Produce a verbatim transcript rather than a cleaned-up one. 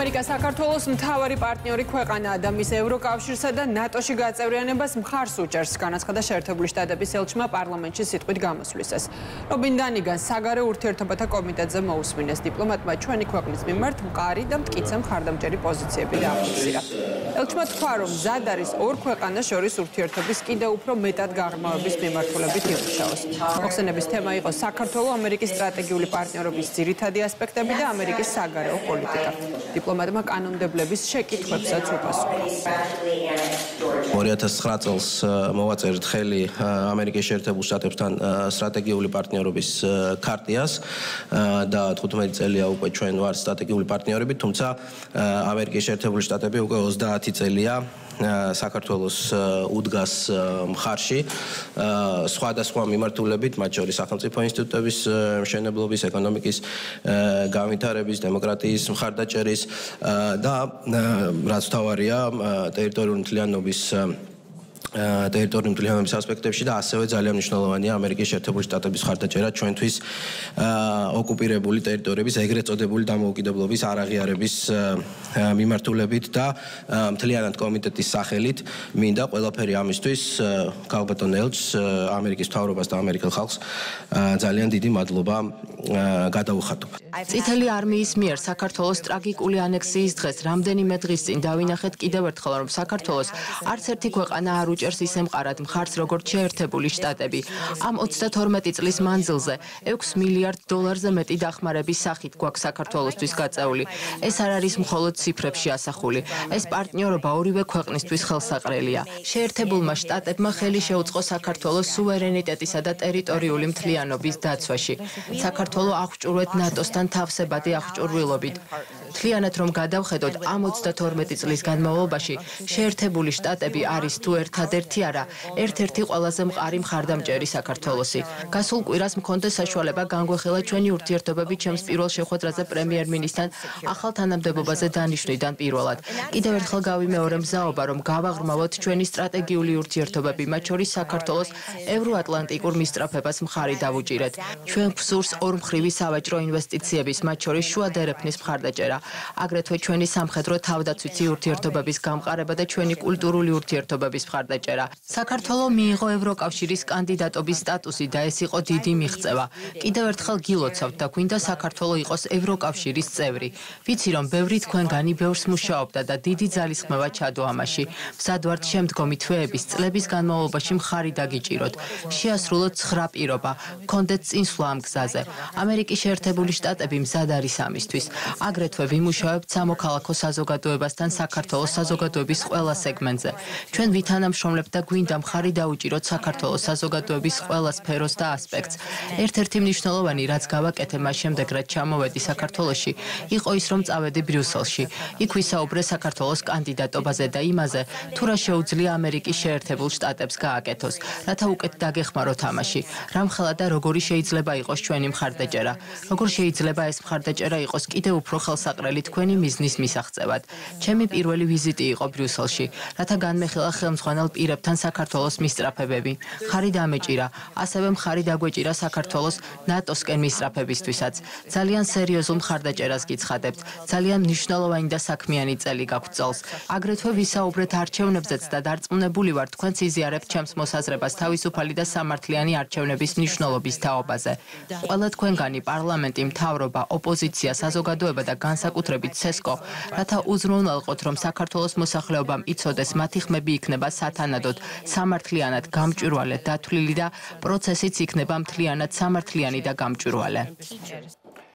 ამერიკა საქართველოს მთავარი პარტნიორი ქვეყანაა და მის ევროკავშირსა და ნატოში გაწევრიანებას მხარს უჭერს, განაცხადა შეერთებული შტატების ელჩმა პარლამენტში სიტყვით გამოსვლისას. რობინ დანიგან საგარეო ურთიერთობათა კომიტეტზე მოусმინეს დიპლომატმა ჩვენი ქვეყნის მიმართ მყარი და მტკიცე მხარდამჭერი პოზიციები დააფიქსირა. ელჩმა თქვა, რომ მზად არის ორ ქვეყანას შორის ურთიერთობის კიდევ უფრო მეტად გაღრმავების მიმართულებით იმუშაოს. მოხსენების თემა იყო საქართველოს ამერიკის სტრატეგიული პარტნიორობის ძირითადი ასპექტები და ამერიკის საგარეო პოლიტიკა. დიპლომატმა კანონმდებლების შეკითხვებსაც უპასუხა. ორი ათას ცხრა წელს მოვაწერთ ხელი ამერიკის შეერთებულ შტატებთან სტრატეგიული პარტნიორობის ქარტიას და თხუთმეტი წელია უკვე ჩვენ ვართ სტრატეგიული პარტნიორები, თუმცა ამერიკის შეერთებული შტატები უკვე ოცდაათი წელია საქართველოს უდგას მხარში სხვადასხვა მიმართულებით, მათ შორის სახელმწიფო ინსტიტუტების მშენებლობის, ეკონომიკის განვითარების, დემოკრატიის მხარდაჭერის და რაც მთავარია ტერიტორიული მთლიანობის ტერიტორიული მთლიანობის ასპექტებში და ასევე ძალიან მნიშვნელოვანია ამერიკის შეერთებული შტატების მხარდაჭერა ჩვენთვის ოკუპირებული ტერიტორიების ეგრეთ წოდებული დამოუკიდებლობის არაღიარების მიმართულებით და მთლიანად კომიტეტის სახელით მინდა ყველაფერი ამისთვის ქალბატონ ელჩს, ამერიკის მთავრობას და ამერიკელ ხალხს ძალიან დიდი მადლობა გადაუხადო. წითელი არმიის მიერ საქართველოს ტრაგიკული ანექსიის დღეს რამდენიმე დღის წინ დავინახეთ კიდევ ერთხელ, რომ საქართველოს არც ერთი ქვეყანა არ უჭერს ისე მყარად მხარს, როგორც შეერთებული შტატები. ამ ოცდათორმეტი წლის მანძილზე ექვს მილიარდ დოლარზე მეტი დახმარების სახით გვაქვს საქართველოსთვის გაწეული. ეს არ არის მხოლოდ ციფრებში ასახული. ეს პარტნიორობა ორივე ქვეყნისთვის ხელსაყრელია. შეერთებულმა შტატებმა ხელი შეუწყო საქართველოს სუვერენიტეტისა და ტერიტორიული მთლიანობის დაცვაში. საქართველოს აღჭურვეთ ნატოსთან თავსებადი აღჭურვილობით. მთლიანად რომ გადავხედოთ, ამ ოცდათორმეტი წლის განმავლობაში შეერთებული შტატები არის თუ ერთადერთი არა, ერთ-ერთი ყველაზე მყარი მხარდამჭერი საქართველოსი. გასულ კვირას მქონდა საშუალება განგვეხილა ჩვენი ურთიერთობები ჩემს პირველ შეხვედრაზე პრემიერ-მინისტრთან ახალ თანამდებობაზე დანიშვნიდან პირველად. კიდევ ერთხელ გავიმეორე მზაობა, რომ გავაღრმავოთ ჩვენი სტრატეგიული ურთიერთობები, მათ შორის საქართველოს ევროატლანტიკურ მისწრაფებას მხარი დავუჭირეთ. ჩვენ გვსურს ორმხრივი სავაჭრო ინვესტიციების, მათ შორის შუა დერეფნის მხარდაჭერა, აგრეთვე ჩვენი სამხედრო თავდაცვითი ურთიერთობების გამყარება და ჩვენი კულტურული ურთიერთობების მხარდაჭერა. საქართველოს მიიღო ევროკავშირის კანდიდატობის სტატუსი და ეს იყო დიდი მიღწევა. კიდევ ერთხელ გილოცავთ და გვინდა საქართველოს იყოს ევროკავშირის წევრი. ვიცი, რომ ბევრი თქვენგანი ბევრს მუშაობდა და დიდი ძალისხმევა ჩადო ამაში. მზად ვართ შემდგომი თვეების წლების განმავლობაში მხარი დაგიჭიროთ. შეასრულოთ ცხრა პირობა, გქონდეთ წინსვლა ამ გზაზე. ამერიკის შეერთებული შტატები მზად არის ამისთვის. აგრეთვე ვიმუშავებთ სამოქალაქო საზოგადოებასთან საქართველოს საზოგადოების ყველა სეგმენტზე. ჩვენ ვითანამშრომლებთ და გვინდა მხარი დაუჭიროთ საქართველოს საზოგადოების ყველა სფეროს და ასპექტს. ერთ-ერთი მნიშვნელოვანი, რაც გავაკეთე მას შემდეგ, რაც ჩამოვედი საქართველოში, იყო ის, რომ წავედი ბრიუსელში. იქ ვისაუბრე საქართველოს კანდიდატობაზე და იმაზე, თუ რა შეუძლია ამერიკის შეერთებულ შტატებს გააკეთოს, რათა უკეთ დაგეხმაროთ ამაში. რამხელა და როგორი შეიძლება იყოს ჩვენი მხარდაჭერა. როგორ შეიძლება ეს მხარდაჭერა იყოს კიდევ უფრო ხელსაყრელი თქვენი მიზნის მისაღწევად. ჩემი პირველი ვიზიტი იყო ბრიუსელში, რათა განმეხილა ხელმძღვანელ პირებთან საქართველოს მისწრაფებები. მხარი დამეჭირა, ასევე მხარი დაგვეჭირა საქართველოს ნატოსკენ მისწრაფებისთვისაც. ძალიან სერიოზულ მხარდაჭერას გიცხადებთ. ძალიან მნიშვნელოვანი და საქმიანი წელი გაქვთ წელს. აგრეთვე ვისაუბრეთ არჩევნებზეც და დარწმუნებული ვარ, თქვენც იზიარებთ ჩემს მოსაზრებას თავისუფალი და სამართლიანი არჩევნების მნიშვნელობის თაობაზე. ყველა თქვენგანი პარლამენტი, მთავრობა, ოპოზიცია, საზოგადოება და განსაკუთრებით ცესკო, რათა უზრუნველყოთ, რომ საქართველოს მოსახლეობამ იცოდეს, მათი ხმები იქნება სათანადოდ, სამართლიანად გამჭვირვალე, დათვლილი და პროცესიც იქნება მთლიანად სამართლიანი და გამჭვირვალე.